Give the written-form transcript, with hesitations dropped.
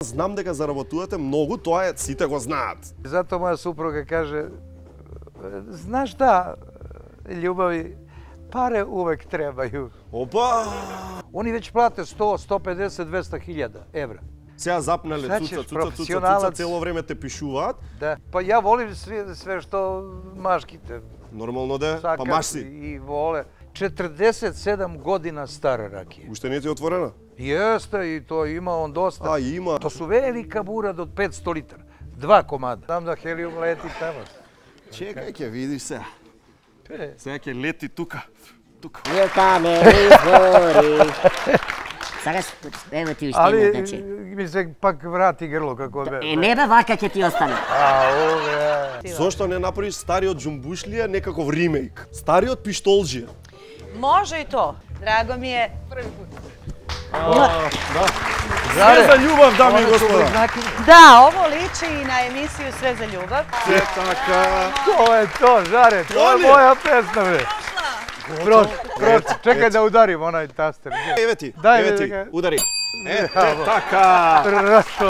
Знам дека заработувате многу, тоа е, сите го знаат. Затоа моја супруга каже, знаеш да, љубави, паре увек требају. Опа! Они веќе плате 100, 150, 200 хиљада евра. Сега запнале Значи, цуца, цело време те пишуваат. Да. Па ја волим све што машките. Нормално да, па маш си. И воле. 47 година стара ракија. Уште не ти е отворена? Јесте, и тоа има он доста. А, има. То су велика бура до 500 литра. 2 комада. Знам да хелиум лети тамо. Чекај, ќе видиш сега. Сега ќе лети тука. Тука. Нека не изгори. Сакаш, ево ти уште Али, една, значи. ми се пак врати грло како бе. Не бе, вака ќе ти остане. Ове. Зошто не направиш стариот Џумбушлија некаков ремейк? Стариот Пиштолџија. Може и то. Драго ми е. Све за љубав, дами и господа. Да, ово личи и на емисију Све за љубав. Се така. Тоа е то, Жаре, тоа е моја песна, бе. Чекај да ударим онај тастер. Еве ти, Дај, еве ти, дека. удари. Ете така. Просто.